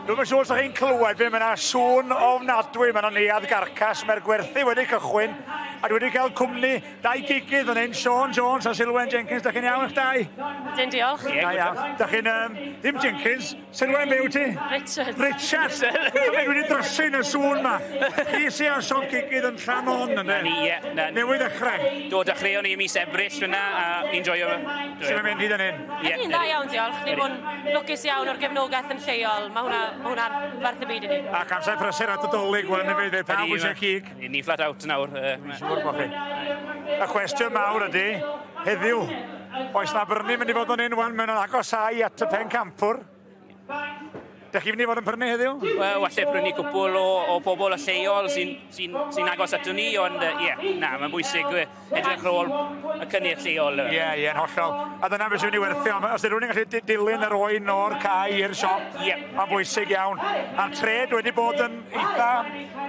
Dwi'm yn siŵr os ydych chi'n clywed fi, mae yna sŵn ofnadwy, mae yna neuadd garcas, mae'r gwerthu wedi cychwyn, a dwi wedi cael cwmni dau gigydd fan hyn, Siôn Jones a Silwen Jenkins. Da chi'n iawn eich dau? Dyn, diolch. Da iawn. Da chi'n, ddim Jenkins, Silwen, be wyt ti? Richards. Richards! Dwi wedi drysu yn y sŵn ma. Chi sy ar siop gigydd yn Llanon, ynddo? Na ni, ie. Na, Newydd ddechrau. Do, dechreuon ni mis Ebrill fyna, a ni'n joio. Sut mae'n mynd hyd yn hyn? Ie. Ni'n dda iawn, diolch. Ni'n bod yn lwcus iawn o'r gefnogaeth yn lleol. Mae hwnna, ma hwnna'n werth y byd i ni. Ac amser prysur at y Dolig wan hefyd, pawb eisiau cig. Ni flat out nawr. Dwi'n siŵr bod chi. Y cwestiwn mawr ydy, heddiw, oes na brynu mynd i fod yn un wan, mae'n agosau at y pencampwr. Dych chi'n mynd i fod yn prynu heddiw? Wel, falle prynu cwpl o bobl y lleol sy'n agos ato ni, ond ie, yeah, na, mae'n bwysig edrych ar ôl y cynnyrch lleol. Ie, ie, yn hollol. A dyna beth sy'n mynd i werthio. Os ydy rhywun yn gallu dilyn yr oen o'r cae i'r siop, mae'n bwysig iawn. A'r trade wedi bod yn eitha...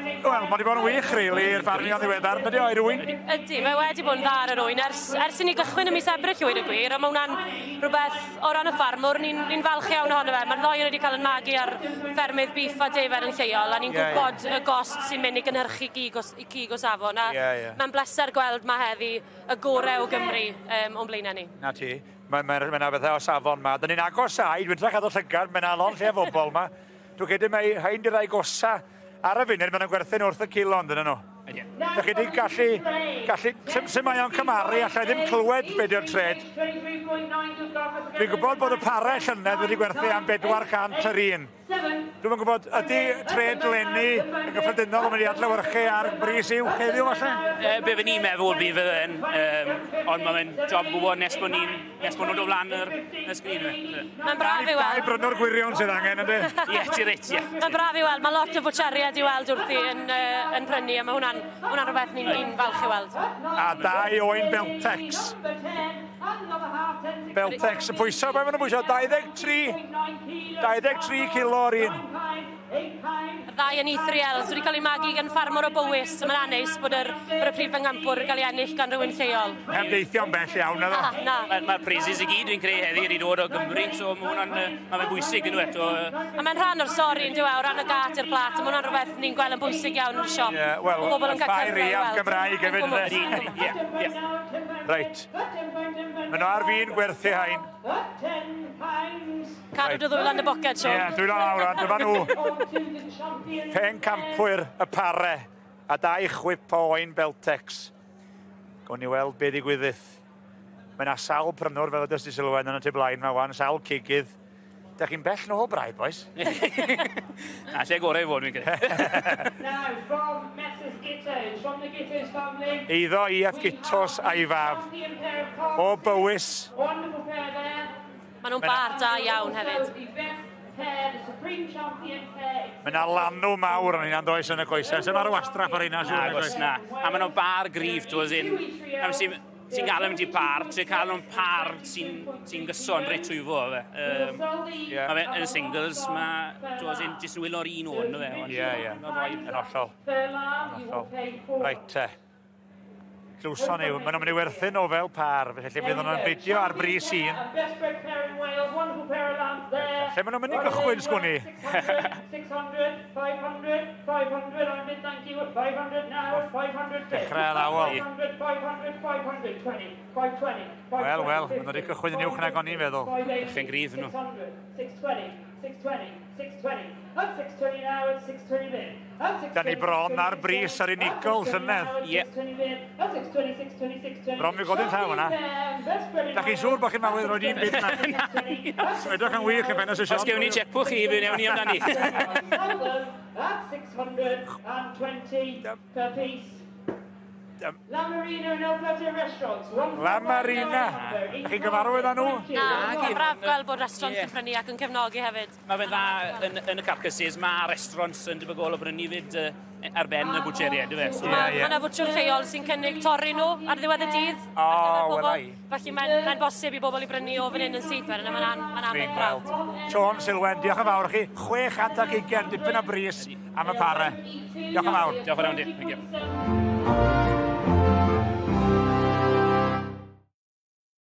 Wel, mae wedi bod yn wych, really, i'r ffarmio ddiweddar. Ydy o, i rywun? Ydy, mae wedi bod yn dda ar yr oen ers i ni gychwyn ym mis Ebrill, i weud y gwir, a mae hwnna'n rhywbeth o ran y ffarmwr, ni'n falch iawn ohono fe. Mae'r ddoi wedi cael yn magu ar ffermydd beef a defaid yn lleol, a ni'n gwybod y gost sy'n mynd i gynhyrchu cig o safon. A mae'n bleser gweld mae heddi y gorau o Gymru o'n blaenau ni. Na ti, mae ma, ma, ma bethau o safon ma. Dyn ni'n agosau, dwi'n trach adol llygad, mae'n alon lle o bobl ma. Dwi'n credu mai rhain di'r rai gosa ar y funud, maen nhw'n gwerthu'n wrth y kilo, ond nhw. Dych chi wedi gallu sut mae o'n cymaru, allai ddim clywed be di'r trade. Dwi'n gwybod bod y pare llynedd wedi gwerthu am 400 yr un. Dwi'm yn gwybod, ydy trade leni yn gyffredinol yn mynd i adlewyrchu ar bris uwch heddiw falle? Be fy ni'n meddwl bydd yn, ond mae'n job gwybod nes bod nhw'n dod flan y sgrin. Mae'n braf i weld. Dau brynwr gwirion sydd angen, ydy? Ie, ti reit, ie. Mae'n braf i weld. Mae lot o fwtsieriaid i weld wrthi yn prynu, a mae hwnna'n rhywbeth ni'n falch i weld. A dau oen Beltex. Beltex yn pwyso, be maen nhw'n pwyso? 23 kilo o'r un. Y ddau yn E3Ls wedi cael ei magu gan ffarmwr o Bowys, so mae'n aneis bod y prif bencampwr yn cael ei ennill gan rhywun lleol. Heb deithio'n bell iawn, naddo? Na, na. Mae'r prizes i gyd dwi'n creu heddi wedi dod o Gymru, so mae hwnna'n ma fe'n bwysig yn eto. A mae'n rhan o'r stori yn dyw e, o ran y gât i'r plat, a mae hwnna'n rhywbeth ni'n gweld yn bwysig iawn yn y siop. Ie, wel, Bobl yn y cael ffair cyfle i iaf weld. Gymraeg hefyd, ynde? Ie. Reit. Maen nhw ar fin gwerthu hain. Cadw dy ddwylo yn y boced, Siôn. Ie, dwylo lawr, a dyma nhw. Pencampwyr y pare a dau chwip o oen Beltex. Gawn ni weld be ddigwyddith. Mae yna sawl prynwr fel ydys di Sylwen yn y tu blaen ma wan, sawl cigydd. Da chi'n bell nôl braidd, boys? Na, lle gorau i fod, dwi'n credu. Now, from Messrs Gittos, from the Gittos family. Eiddo E.F. Gittos a'i fab. Champion pair of calves. O Bowys. Wonderful pair there. Maen nhw'n bar da iawn hefyd. The best pair, the supreme champion pair. Mae yna lanw mawr yn hynna'n does yn y coesau. Sef ar y wastraff ar hynna, siŵr. Agos na. A maen nhw'n bar gryf, ti'n as in, am sy'n ti'n gael mynd i par, ti'n cael nhw'n par sy'n gyson reit trwy fo, fe. Mae fe yn y singles, mae, ti'n as in, jyst yn wylo'r un o'n, fe. Ie. Yn Yn hollol. Yn hollol. Reit te. Glwson ni, maen nhw'n mynd i werthu nhw fel par, felly fydd nhw'n bidio ar bris un. Best bred pair in Wales, wonderful pair of lambs there. Lle maen nhw'n mynd i gychwyn, sgwn i? 600, 500, 500, I'm bid, thank you, at 500 now, 500 bid. Dechrau addawol. 500, 500, 520, 520, Wel, wel, maen nhw wedi cychwyn yn uwch nag o'n i'n feddwl. Dechrau'n gryf nhw. 600, 620, 620, 620, at 620 now, at 620 bid. At 620, Da ni bron ar bris ar unigol llynedd. Ie. 620 bid, at 620, 620, 620. Bron fi godi'n llaw yna. Da chi'n siŵr bod chi'n mawydd roed un bid na? Edrych yn wych yn ffenest y siop. Os gewn ni checkbook chi, fe newn ni amdani. At 620 per piece. La Marina and El Plato Restaurants. La Marina. Da chi'n gyfarwydd â nhw? Na, mae'n braf gweld bod restaurants yn prynu ac yn cefnogi hefyd. Mae fe'n dda yn y carcasses, mae restaurants yn debygol o brynu fyd ar ben y bwtsieriaid, yw e? So, Ie, ie. Mae yna fwtsiwr lleol sy'n cynnig torri nhw ar ddiwedd y dydd. O, ar gyfer pobl. wel ai. Felly mae'n bosib i bobl i brynu o fan hyn yn syth wedyn, a mae'n Dwi'n anodd braf. gweld. Siôn Silwen, diolch yn fawr i chi. 620, dipyn o bris am y pare. Diolch yn fawr. Diolch yn fawr, di. Thank you.